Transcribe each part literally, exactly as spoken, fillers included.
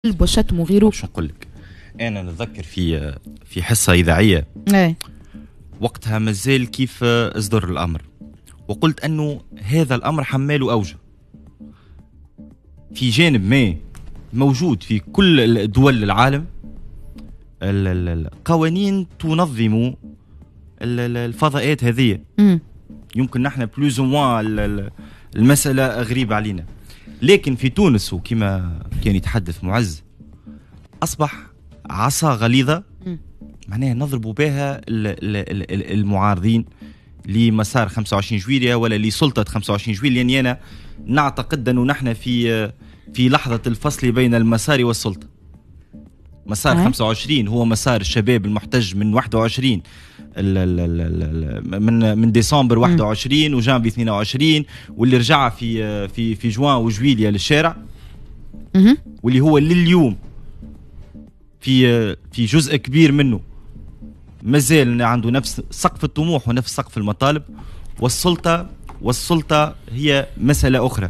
والشتم وغيره. شو نقول لك، انا نتذكر في في حصة اذاعية ايه وقتها مازال كيف اصدر الامر، وقلت انه هذا الامر حمال اوجه. في جانب ما موجود في كل دول العالم القوانين تنظم الفضاءات هذه. يمكن نحن plus ou moins المسألة غريبة علينا، لكن في تونس وكما كان يتحدث معز أصبح عصا غليظة، معناها نضرب بها المعارضين لمسار خمسة وعشرين جويلية ولا لسلطة خمسة وعشرين جويلية، لأني أنا نعتقد أنه نحن في في لحظة الفصل بين المسار والسلطة. مسار خمسة وعشرين هو مسار الشباب المحتج من واحد وعشرين ال ال ال من من ديسمبر واحد وعشرين وجانفي اثنين وعشرين، واللي رجع في في في جوان وجويليا للشارع، واللي هو لليوم في في جزء كبير منه مازال عنده نفس سقف الطموح ونفس سقف المطالب. والسلطه والسلطه هي مسالة اخرى.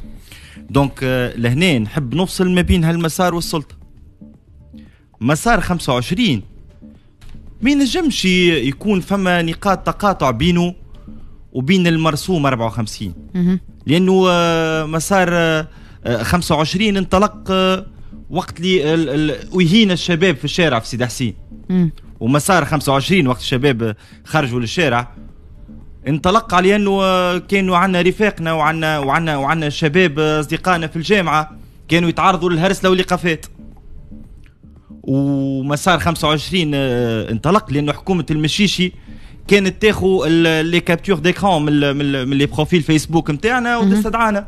donc لهنا نحب نفصل ما بين هالمسار والسلطه. مسار خمسة وعشرين ما ينجمش يكون فما نقاط تقاطع بينه وبين المرسوم أربعة وخمسين، لانه آه، مسار خمسة وعشرين آه، انطلق آه، وقت اللي اهين الشباب في الشارع في سيدي حسين، ومسار خمسة وعشرين وقت الشباب خرجوا للشارع انطلق على انه كانوا عندنا رفاقنا وعندنا وعندنا وعندنا شباب اصدقائنا في الجامعة كانوا يتعرضوا للهرسله والايقافات. ومسار خمسة وعشرين آه، انطلق لانه حكومة المشيشي كانت تاخذ les captures d'écran من من les profils فيسبوك نتاعنا وتستدعانا.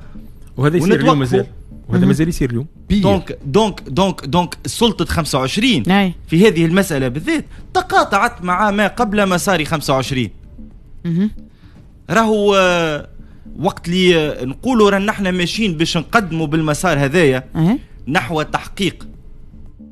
وهذا يصير اليوم مازال، وهذا مازال يصير اليوم. donc donc donc donc سلطة خمسة وعشرين أي. في هذه المسألة بالذات تقاطعت مع ما قبل مسار خمسة وعشرين. راهو آه، وقت اللي آه، نقولوا رانا نحن ماشيين باش نقدموا بالمسار هذايا أه. نحو تحقيق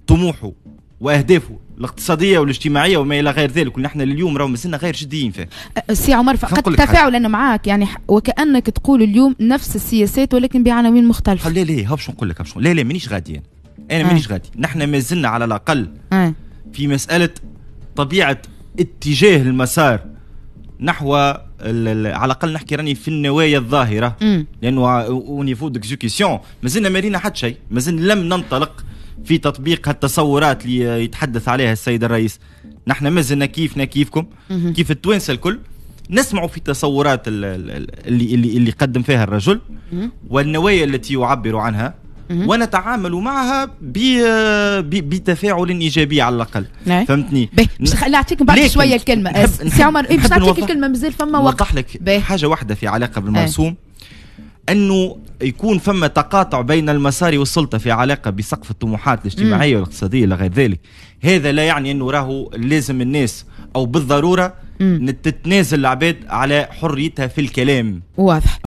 طموحه واهدافه الاقتصادية والاجتماعية وما الى غير ذلك، ونحن لليوم راهو مازلنا غير جديين فيه. سي عمر، خلينا فقط نقول لك حاجة. تفاعلا معك، يعني ح- وكأنك تقول اليوم نفس السياسات ولكن بعناوين مختلفة. لا لا، هاو باش نقول لك، باش لا لا، مانيش غادي انا انا آه. مانيش غادي. نحن مازلنا على الاقل أه. في مسالة طبيعة اتجاه المسار نحو ال- ال- على الاقل نحكي راني في النوايا الظاهره، مم. لانه au niveau d'exécution مازلنا ما رينا حتى شيء، مازلنا لم ننطلق في تطبيق هالتصورات اللي يتحدث عليها السيد الرئيس. نحن مازلنا كيفنا كيفكم، كيف التوانسة الكل، نسمعوا في التصورات ال- ال- اللي اللي اللي قدم فيها الرجل والنوايا التي يعبر عنها، ونتعامل معها ب- ب- بتفاعل ايجابي على الاقل. نعم. فهمتني؟ باهي، باش نخ- نعطيك بعد لكن شوية الكلمه. نحب- سي عمر، إيه، باش نحب نعطيك نوضح- الكلمه، مازال فما وقت. نوضح لك باهي. حاجة واحدة في علاقة بالمرسوم، انه يكون فما تقاطع بين المسار والسلطة في علاقة بسقف الطموحات الاجتماعية والاقتصادية الى غير ذلك، هذا لا يعني انه راهو لازم الناس او بالضرورة تتنازل العباد على حريتها في الكلام. واضح.